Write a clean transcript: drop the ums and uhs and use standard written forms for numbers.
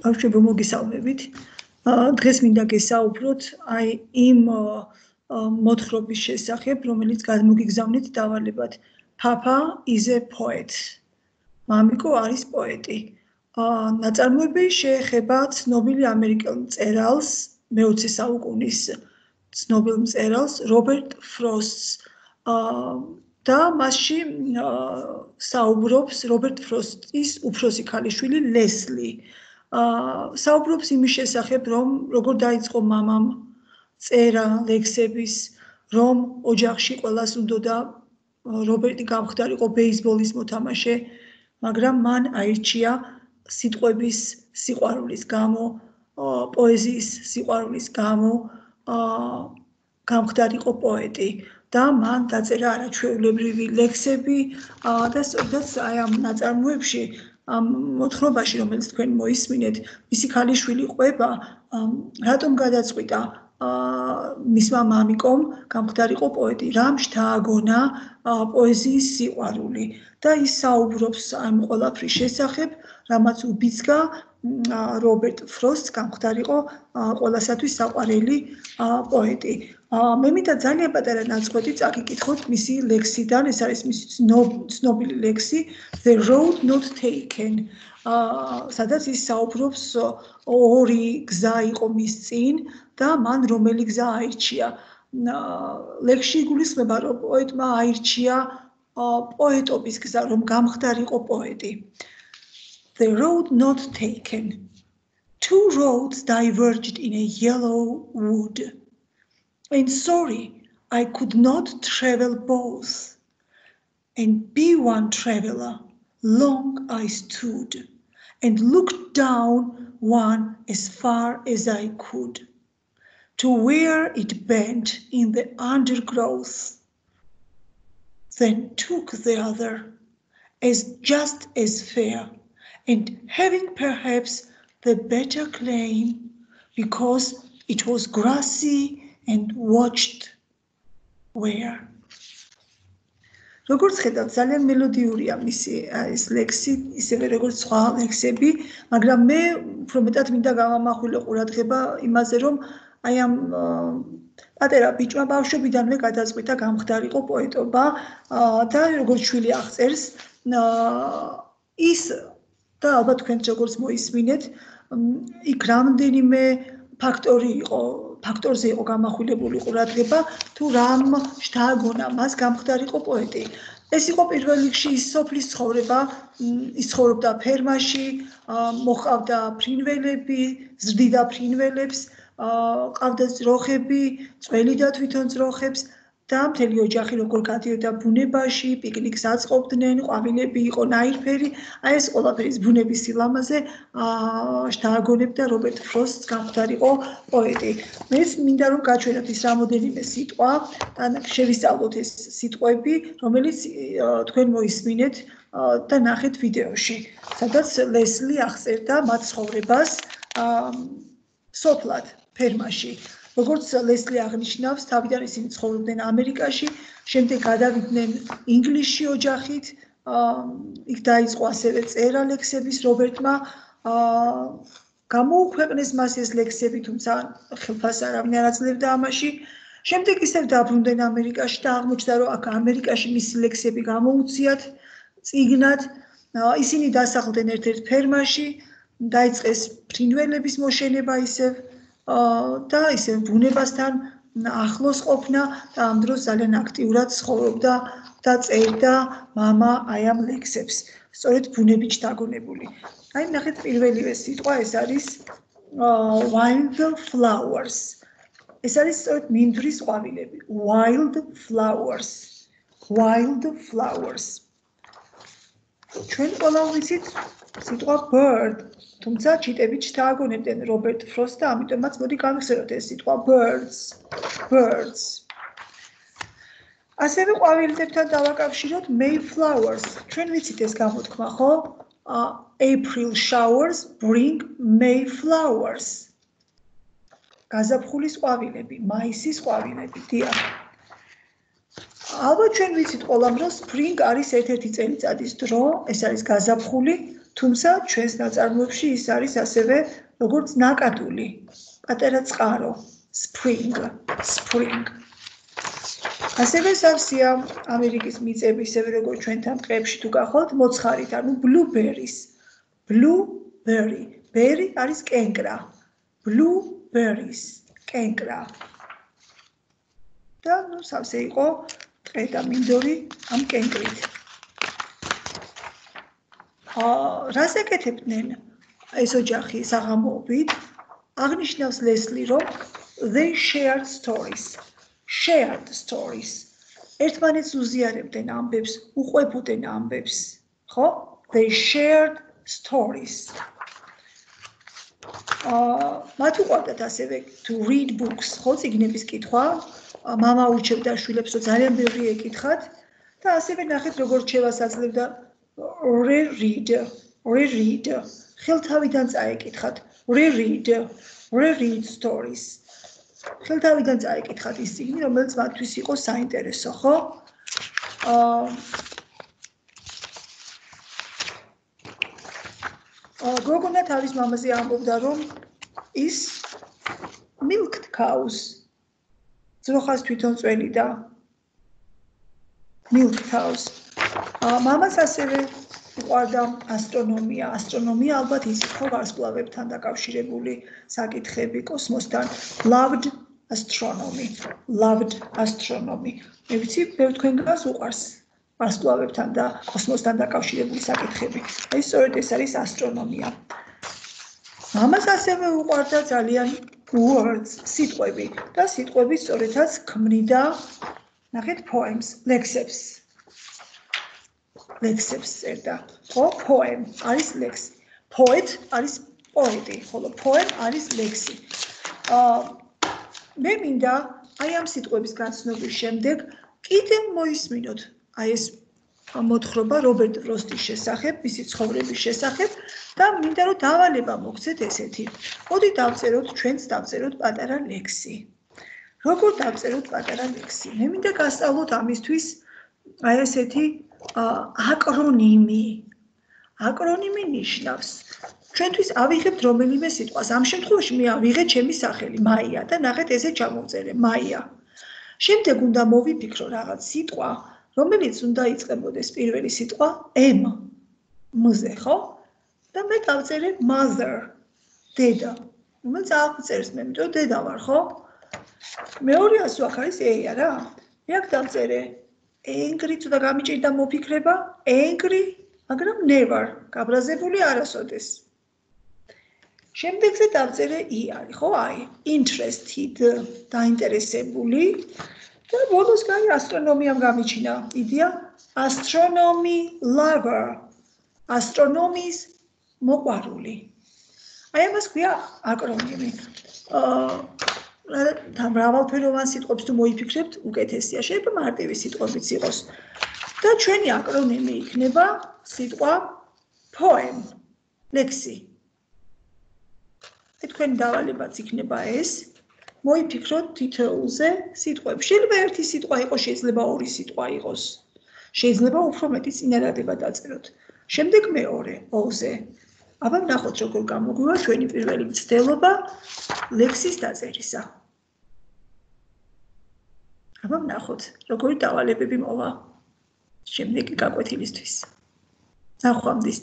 ბავშვებო მოგესალმებით. დღეს მინდა გესაუბროთ აი იმ მოთხრობის შესახებ, რომელიც გადმოგიგზავნით დავალებად. Papa is a poet. მამიკო არის პოეტი. ნაწარმოები შეეხება ცნობილი ამერიკელ მწერალს, მე-20 საუკუნის ცნობილ მწერალს, რობერტ ფროსტს. და მასში საუბრობს რობერტ ფროსტის უფროსი ქალიშვილი ლესლი. საუბრობს იმის შესახებ, რომ როგორ დაიწყო მამამ წერა ლექსების, რომ ოჯახში ყველას უნდოდა რობერტი გამხდარიყო ბეისბოლის მოთამაშე, მაგრამ მან აირჩია სიტყვების სიყვარულის გამო, პოეზიის სიყვარულის გამო გამხდარიყო პოეტი. და მან დაწერა არაჩვეულებრივი ლექსები და სწორედ აი ამ ნაწარმოებში ამ მოთხრობაში, რომელიც თქვენ მოისმინეთ, მისი ქალიშვილი ყვება, რატომ გადაწყვიტა მისმა მამიკომ გამხდარიყო პოეტი, რამ შთააგონა პოეზიის სიყვარული და ის საუბრობს ამ ყველაფრის შესახებ, რამაც უბიძგა რობერტ ფროსტს გამხდარიყო ყველასათვის საყვარელი პოეტი. მე მინდა ძალიან პატარა ნაწყვეტი წაგიკითხოთ მისი ლექსიდან, ეს არის მისი ცნობილი ლექსი The Road Not Taken. სადაც ის საუბრობს ორი გზა იყო მის წინ და მან რომელი გზა აირჩია. ლექსში იგულისხმება, რომ პოეტმა აირჩია პოეტობის გზა, რომ გამხდარიყო პოეტი. The road not taken. Two roads diverged in a yellow wood. And sorry, I could not travel both. And be one traveler, long I stood, and looked down one as far as I could, to where it bent in the undergrowth, then took the other, as just as fair, and having perhaps the better claim, because it was grassy and watched where. როგორც ხედავთ, ძალიან მელოდიურია მისი ეს ლექსი, ისევე როგორც სხვა ლექსები, მაგრამ მე უფრო მეტად მინდა გავამახვილო ყურადღება იმაზე, რომ აი ამ პატარა ბიჭმა ბავშვობიდანვე გადაწყვიტა გამხდარიყო პოეტობა და როგორც შვილი აღწერს, ის და ალბათ თქვენც როგორც მოისმინეთ, იქ რამდენიმე ფაქტორზე იყო გამახვილებული ყურადღება, თუ რამ შთააგონა მას გამხდარიყო პოეტი. ეს იყო პირველ რიგში ის სოფლის ცხოვრება, ის ცხოვრობდა ფერმაში, მოჰყავდა ფრინველები, ზრდიდა ფრინველებს, ყავდა ძროხები, წველი და თვითონ ძროხებს და მთელი ოჯახი როგორ გადიოდა ბუნებაში, პიკნიკს აწყობდნენ, ყვავილები იყო ნაირფერი, აი ეს ყველაფერი ბუნების სილამაზე შთააგონებდა რობერტ ფროსტს გამხდარიყო პოეტი. მეც მინდა რომ გაჩვენოთ ის რამოდენიმე სიტყვა და შევისწავლოთ ეს სიტყვები, რომელიც თქვენ მოისმინეთ და ნახეთ ვიდეოში, სადაც ლესლი აღწერდა მათ ცხოვრებას სოფლად, ფერმაში. როგორც ლესლი აღნიშნავს, თავიდან ისინი ცხოვრობდნენ ამერიკაში, შემდეგ გადავიდნენ ინგლისში ოჯახით, იქ დაიწყო ასევე წერა ლექსების რობერტმა, გამოუქვეყნეს მას ეს ლექსები, თუმცა ხელფას არავინ არ აძლევდა ამაში. შემდეგ ისევ დაბრუნდნენ ამერიკაში და აღმოჩნდა, რომ აქ ამერიკაში მისი ლექსები გამოუციათ წიგნად. ისინი დასახლდნენ ერთ-ერთ ფერმაში, დაიწყეს ფრინველების მოშენება ისევ და ისე ბუნებასთან ახლოს ყოფნა და ამ დროს ძალიან აქტიურად ცხოვრობდა და წერდა მამა აი ამ ლექსებს, სწორედ ბუნებით შთაგონებული. აი ნახეთ პირველივე სიტყვა, ეს არის wild flowers. ეს არის სწორედ მინდვრის ყვავილები. Wild flowers. Wild flowers. ჩვენ ყველა ვიცით სიტყვა bird. თუმცა ჩიტებით შთააგონებდნენ რობერტ ფროსტს და ამიტომაც მოდი გავიხსენოთ ეს სიტყვა birds. ასევე ყვავილებთან დავაკავშიროთ Mayflowers. ჩვენ ვიცით ეს გამოთქმა, ხო? April showers bring Mayflowers. გაზაფხულის ყვავილები, მაისის ყვავილები, დიახ. ალბათ ჩვენ ვიცით ყველამ, რომ spring არის ერთ-ერთი წელიწადის დრო, ეს არის გაზაფხული. თუმცა ჩვენს ნაწარმოებში ის არის ასევე როგორც ნაკადული, პატარა წყარო, spring. ასევე სავსეა ამერიკის მიწები, ისევე როგორც ჩვენთან ტყეებში თუ გახვალთ, მოცხარით, ანუ blueberries. Blueberry. Berry არის კენკრა. Blueberries. კენკრა. და სავსე იყო ტყე და მინდორი ამ კენკრით. რას ეკეთებდნენ ეს ოჯახი საღამოობით? აღნიშნავს ლესლი, რომ they shared stories. ერთმანეთს უზიარებდნენ ამბებს, უყვებოდნენ ამბებს, ხო? They shared stories. მათ უყვარდათ ასევე to read books, ხო, წიგნების კითხვა. მამა ურჩევდა შვილებს, რომ ძალიან ბევრი ეკითხათ და ასევე ნახეთ, როგორც რჩევას აძლევდა reread. ხელთავიდან წაეკითხათ. reread stories. ხელთავიდან წაეკითხათ ის წიგნი, რომელიც მათთვის იყო საინტერესო, ხო? გოგონა თავის მამაზე ამბობდა, რომ ის milked cows. ძროხას თვითონ წველიდა. milk cows. მამას ასევე უყვარდა ასტრონომია. ასტრონომია ალბათ ის იყო ვარსკვლავებთან დაკავშირებული საკითხები კოსმოსთან. Loved astronomy. მე ვიცი, ბევრ თქვენგანს უყვარს ვარსკვლავებთან და კოსმოსთან დაკავშირებული საკითხები. აი სწორედ ეს არის ასტრონომია. მამას ასევე უყვარდა ძალიან words, სიტყვები და სიტყვები სწორედაც ქმნიდა, ნახეთ, poems, ლექსებს. წერდა. ხო, poem არის ლექსი. poet არის პოეტი, ხოლო poem არის ლექსი. მე მინდა აი ამ სიტყვების გაცნობის შემდეგ კიდევ მოისმინოთ აი ეს მოთხრობა რობერტ ფროსტის შესახებ, მისი ცხოვრების შესახებ და მინდა რომ დავალება მოგცეთ ესეთი. მოდი დავწეროთ, ჩვენც დავწეროთ პატარა ლექსი. როგორ დავწეროთ პატარა ლექსი? მე მინდა გასწავლოთ ამისთვის აი ესეთი აკრონიმი. აკრონიმი ნიშნავს ჩვენთვის ავიღებთ რომელიმე სიტყვას. ამ შემთხვევაში მე ავიღე ჩემი სახელი, მაია და ნახეთ ესე ჩამოვწერე, მაია. შემდეგ უნდა მოვიფიქრო რაღაც სიტყვა, რომელიც უნდა იწყებოდეს პირველი სიტყვა M. მზე, ხო? და მე დავწერე mother, დედა. რომელიც აღწერს მე, იმიტომ რომ დედა ვარ, ხო? მეორე ასო აქ არის A არა? მე აქ დავწერე angry, თუ და გამიჭირდა მოფიქრება, angry, მაგრამ never, გაბრაზებული არასოდეს. შემდეგზე დავწერე I არის, ხო? აი, interested, დაინტერესებული. და ბოლოს გაი ასტრონომიამ გამიჩინა იდეა astronomy lover, ასტრონომიის მოყვარული. აი ამას ქვია აკრონიმი. მრავალფეროვან სიტყვებს თუ მოიფიქრებთ, უკეთესია. შეიძლება მარტივი სიტყვებიც იყოს. და ჩვენი აკრონიმი იქნება სიტყვა poem, ლექსი. თქვენი დავალებაც იქნება ეს. მოიფიქროთ თითოეულზე სიტყვები. შეიძლება ერთი სიტყვა იყოს, შეიძლება ორი სიტყვა იყოს. შეიძლება უფრო მეტი წინადადება დაწეროთ. შემდეგ მეორე O-ზე. აბა ვნახოთ როგორ გამოგვივა ჩვენი პირველი მცდელობა ლექსის დაწერისა. აბა ვნახოთ როგორი დავალებები მოვა შემდეგი გაკვეთილისთვის. ნახვამდის.